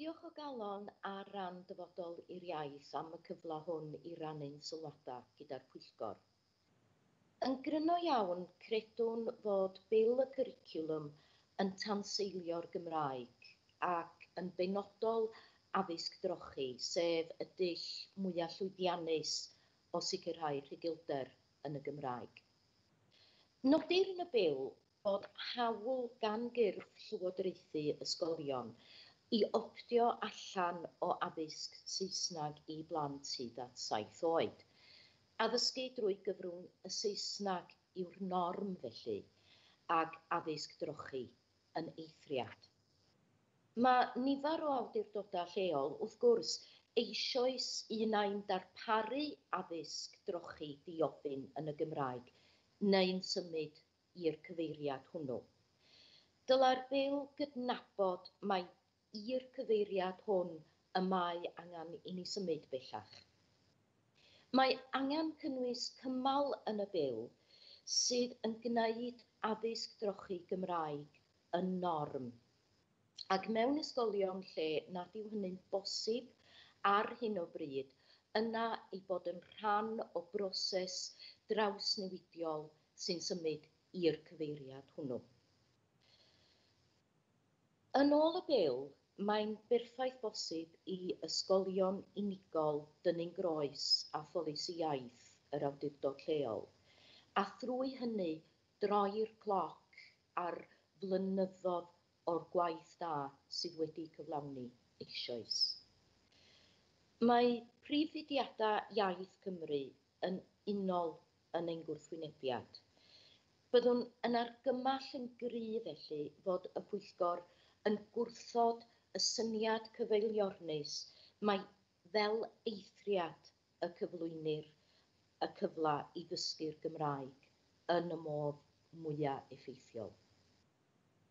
Diolch o galon ar ran Dyfodol i'r Iaith am y cyfle hwn i rannu'n sylwadau gyda'r pwyllgor. Yn gryno iawn, credwn fod Bil y Cwricwlwm yn tanseilio'r Gymraeg ac yn benodol addysg drochi, sef y dull mwyaf llwyddiannus o sicrhau rhugylder yn y Gymraeg. Nodir yn y Bil bod hawl gan gyrff llywodraethu ysgolion i optio allan o addysg Saesneg i blant hyd at 7 oed. Addysgu drwy gyfrwng y Saesneg yw'r norm felly, ac addysg drochi yn eithriad. Mae nifer o awdurdodau lleol, wrth gwrs, eisoes un ai'n darparu addysg drochi diofyn yn y Gymraeg neu'n symud i'r cyfeiriad hwnnw. Dylai'r Bil gydnabod mai i'r cyfeiriad hwn y mae angen i ni symud bellach. Mae angen cynnwys cymal yn y Bil sydd yn gwneud addysg drochi Gymraeg yn norm. Ac mewn ysgolion lle nad yw hynny'n bosib ar hyn o bryd, yna ei bod yn rhan o broses drawsnewidiol sy'n symud i'r cyfeiriad hwnnw. Yn ôl y Bil, mae'n berffaith bosib i ysgolion unigol dynnu'n groes a pholisi iaith yr awdurdod lleol, a thrwy hynny droi'r cloc ar flynyddoedd o'r gwaith da sydd wedi cyflawni eisoes. Mae prif fudiadau iaith Cymru yn unol yn ein gwrthwynebiad. Byddwn yn argymell yn gryf felly fod y pwyllgor yn gwrthod y syniad cyfeiliornus mae fel eithriad y cyflwynir y cyfle i ddysgu'r Gymraeg yn y modd mwyaf effeithiol.